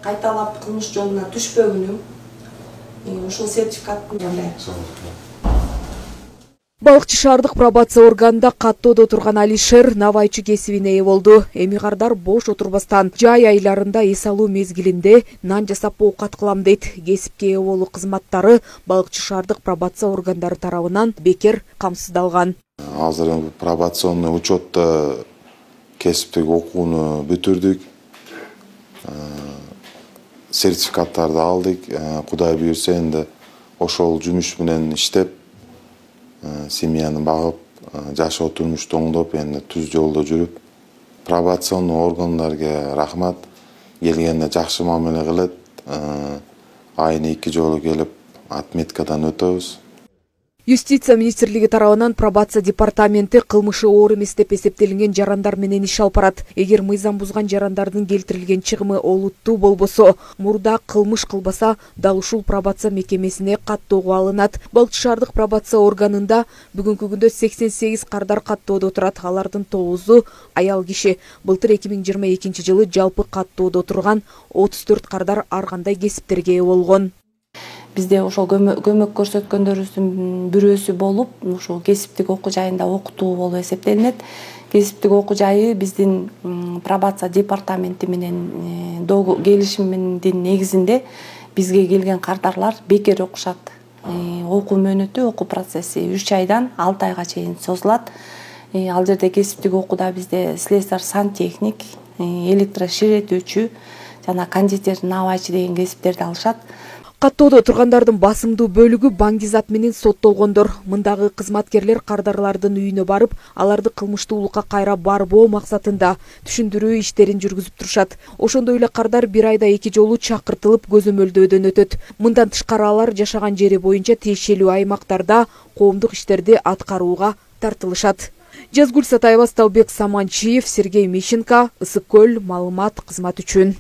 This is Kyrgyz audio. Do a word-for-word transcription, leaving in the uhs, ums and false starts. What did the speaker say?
кайталап кылмыш жолуна түшпөгүнүм ушул сертификаттын кандай. Балыкчы шаардык пробация органында каттоодо турган Алишер навайчы кесибине ээ болду. Эми кардар бош отурбастан жай айларында эс алуу мезгилинде нан жасап оокат кылам дейт. Кесипке ээ болуу кызматтары балыкчы шаардык пробация органдары тарабынан бекер камсыздалган. Азыр пробационный учетто кесиптик окууну бүтүрдүк. Сертификаттарды алдык. Кудай буйрса энди ошол жумуш менен иштеп семьяны багып, жашоо турмушту оңдоп, энди түз жолдо жүрүп, пробационный органдарга рахмат. Келгенде жакшы мамиле кылат. Айына эки жолу келип, отметкадан өтөбүз. Юстиция министрлиги тарабынан пробация департаменти кылмышы оор эмес деп эсептелинген жарандар менен иш алып барат. Эгер мыйзам бузган жарандардын келтирилген чыгымы олуттуу болбосо, мурда кылмыш кылбаса дал ушул пробация мекемесине каттоого алынат. Балыкчы шаардык пробация органында бүгүнкү күндө сексен сегиз кардар каттоодо турат. Алардын тогузу аял киши. Былтыр эки миң жыйырма экинчи жылы жалпы каттоодо турган отуз төрт кардар ар кандай кесиптерге ээ болгон. Бизде ошол көмөк көрсөткөндөрүбүздүн бирөөсү болуп, ушул кесиптик окуу жайында окутуу болуп эсептелинет. Кесиптик окуу жайы биздин пробация департаменти менен келишимдин негизинде бизге келген кардарлар бекер окушат. Окуу мөөнөтү, окуу процесси үч айдан алты айга чейин созулат. Ал жерде кесиптик окууда бизде слесарь, сантехник, электроширетүүчү жана кондитер, навайчы деген кесиптерди алышат. Каттоодо тургандардын басымдуу бөлүгү баңгизат менен соттолгондор. Мындагы кызматкерлер кардарлардын үйүнө барып, аларды кылмыштуулукка кайра барбоо максатында түшүндүрүү иштерин жүргүзүп турушат. Ошондой эле кардар бир айда эки жолу чакыртылып көзөмөлдөөдөн өтөт. Мындан тышкары алар жашаган жери боюнча тиешелүү аймактарда коомдук иштерди аткарууга тартылышат. Жазгүл Сатаева, Сталбек Саманчиев, Сергей Мищенко, Ысык көл, маалымат кызмат үчүн.